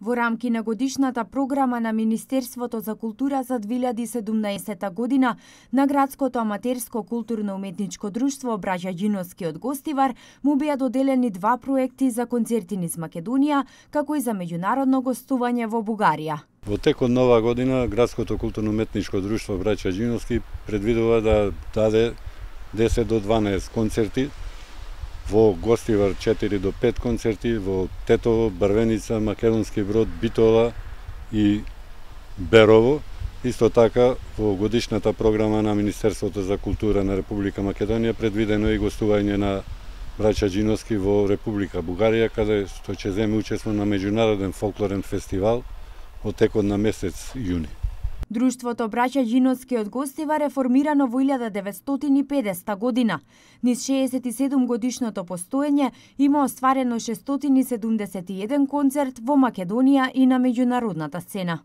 Во рамки на годишната програма на Министерството за култура за 2017 година, на Градското аматерско културно-уметничко друштво Браќа Џиновски од Гостивар му беа доделени 2 проекти за концерти низ Македонија, како и за меѓународно гостување во Бугарија. Во текот на оваа година, Градското културно-уметничко друштво Браќа Џиновски предвидува да даде 10 до 12 концерти, во Гостивар 4 до 5 концерти, во Тетово, Брвеница, Македонски Брод, Битола и Берово. Исто така, во годишната програма на Министерството за култура на Република Македонија предвидено и гостување на Браќа Џиновски во Република Бугарија, каде што ќе земе учество на меѓународен фолклорен фестивал во текот на месец јуни. Друштвото Браќа Џиновски од Гостивар е формирано во 1950 година. Низ 67 годишното постоење има остварено 671 концерт во Македонија и на меѓународната сцена.